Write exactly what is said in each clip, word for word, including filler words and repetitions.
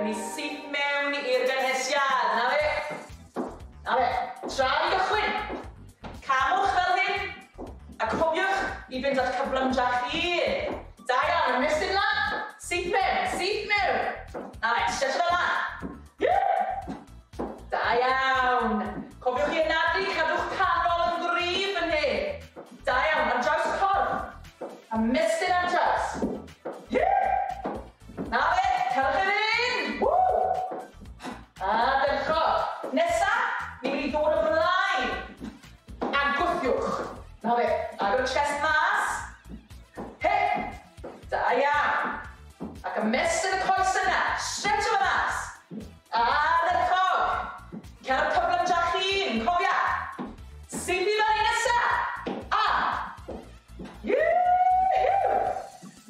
Ewn ni syth mewn i'r gynhesiad. Na fe. Na fe. Tra i gychwyn. Camwch fel hyn. A cofiwch i fynd at cyflymdra chi. Da iawn, ymestyn lan. Syth mewn, syth mewn. Na fe, stretch fel lan. Yeah. Da iawn. Cofiwch i anadlu, cadwch canol yn gryf yn hyn. Da iawn, ar draws y corff. Ymestyn ar draws. Yeah. Na fe, cerwch i fynd. Woo! Ardderchog. Nesa, ni'n mynd i ddod o flaen. A gwthiwch. Na fe, agor y chest mas. He! Da iawn. Ac ymestyn y coes yna. Stretch o mas. Ardderchog. Cer cyflymdra chi'n, cofia. Syth i fyny nesa. A. Yoo!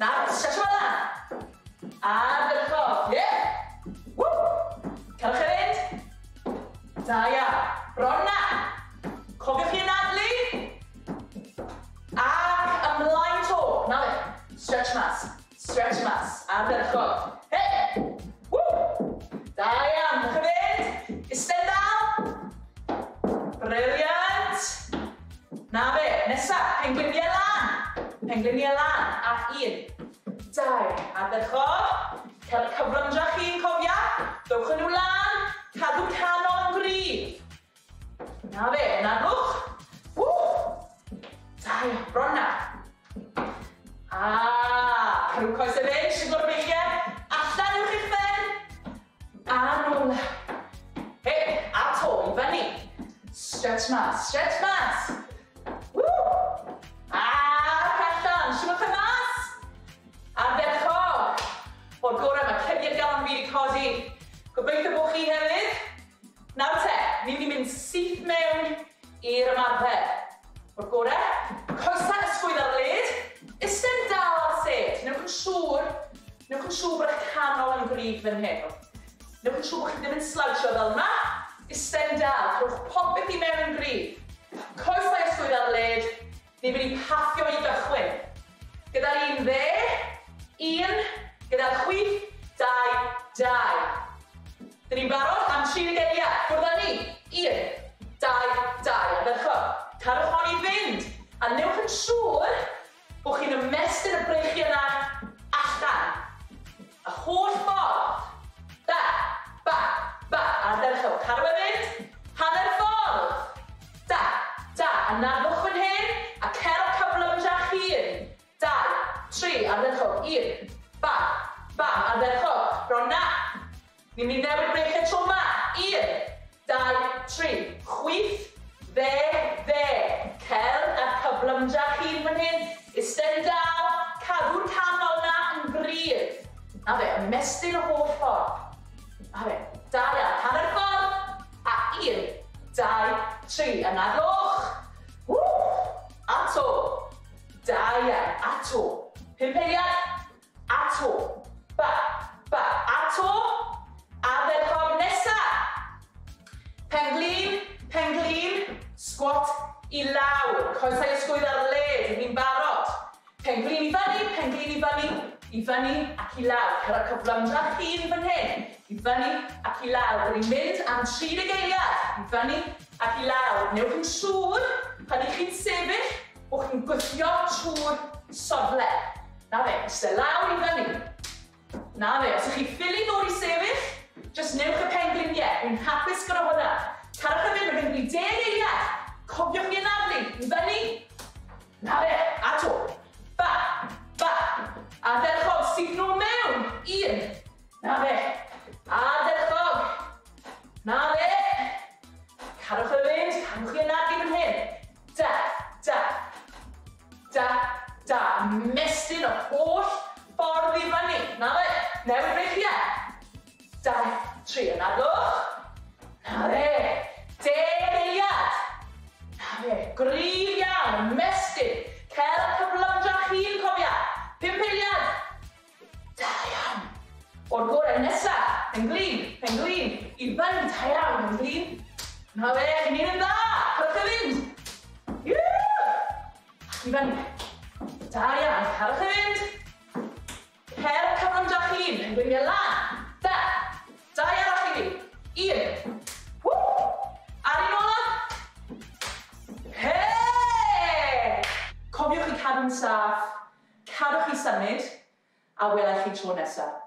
Nawr, stretch o lan. Ardderchog. Yeah. Woo! Cerwch i fynd. Da iawn. Bron na. Cofiwch chi anadlu. Ac ymlaen to. Na fe. Stretch mas. Stretch mas. Ardderchog. Hey! Woo! Da iawn. Cerwch i fynd. Isten dal. Brilliant. Na fe. Nesa. Pengliniau lan. Pengliniau lan. Ac un. Dau. Ardderchog. Cael y cyflymdra chi'n cofia. Dowch yn nhw lan. Cadw canol yn gryf. Na fe. Anadlwch. Woo! Da iawn. Bron na. Ah, cadw coesau fynd, siglo'r breichiau. Allan uwch eich pen. A nôl. Hei, a to, i fyny. Stretch mas, stretch mas. Woo! Ac allan, siglwch e mas. Ardderchog. O'r gorau, mae curiad galon fi wedi codi. Gobeithio bod chi hefyd. Nawr te, ni'n mynd i mynd syth mewn i'r ymarfer. O'r gorau, coesau ysgwydd ar led, isten dal ar sêt. Newch yn siŵr, newch yn siŵr bod eich canol yn gryf fan hyn. Newch yn siŵr bod chi ddim yn slouchio fel yma. Isten dal, rhowch popeth i mewn yn gryf. Coesau ysgwydd ar led, ni'n mynd i paffio i gychwyn. Gyda'r un dde, un, gyda'r chwith, dau, dau. Dyn ni'n barod am tri deg eiliad. Ffwrdd â ni. Un, dau, dau. Ardderchog. Cadwch hon i fynd. A newch yn siŵr bod chi'n ymestyn y breichiau yna allan. Y holl ffordd. Da, ba, ba. Ardderchog. Cadw e fynd. Hanner ffordd. Da, da. Anadlwch fan hyn. A cerwch cyflymdra chi'n. Dau, tri. Ardderchog. Un, ba, ba. Ardderchog. Bron na. Ni'n mynd i newid breichiau tro yma. Un, dau, tri. Chwith, dde, dde. Cer a cyflymdra chi'n fan hyn. Isten dal, cadw'r canol na yn gryf. Na fe, ymestyn y holl ffordd. Na fe, da iawn, hanner ffordd. A un, dau, tri. Anadlwch. Woo! A to. Da iawn, a to. Pump eiliad. A to. Ba, ba, a to. Ardderchog nesa. Penglin, penglin, squat i lawr. Coesau ysgwydd ar led, ni'n barod. Penglin i fyny, penglin i fyny, i fyny ac i lawr. Cer y cyflymdra chi'n fan hyn. I fyny ac i lawr. Dyn ni'n mynd am tri deg eiliad. I fyny ac i lawr. Newch yn siŵr, pan ych chi'n sefyll, bod chi'n gwthio trwy'r sofle. Na fe, eistedd lawr i fyny. Na fe, os ych chi ffili ddod i sefyll, just newch y pengliniau. Dwi'n hapus gyda hwnna. Cadwch y fynd, mae'n mynd i deg eiliad. Cofiwch chi anadlu. I fyny. Na fe, a to. Ba, ba. Ardderchog, syth nôl mewn. Un. Na fe. Ardderchog. Na fe. Cadwch y fynd, cadwch chi anadlu fan hyn. Da, da. Da, da. Mestyn y holl ffordd i fyny. Na fe. Newid breichiau. Dau, tri, anadlwch. Na fe. Deg eiliad. Na fe. Gryf iawn, ymestyn. Cer cyflymdra chi'n cofia. Pump eiliad. Da iawn. O'r gorau nesa. Penglin, penglin. I fyny, da iawn, penglin. Na fe, chi'n un yn dda. Cadwch i fynd. Yeah! I fyny. Da iawn, cadwch i fynd. Cer cyflymdra chi'n. Pengliniau lan. Da, un. Woo! A'r un ola. Hey! Cofiwch i cadw'n saff, cadwch i symud, a welai chi tro nesaf.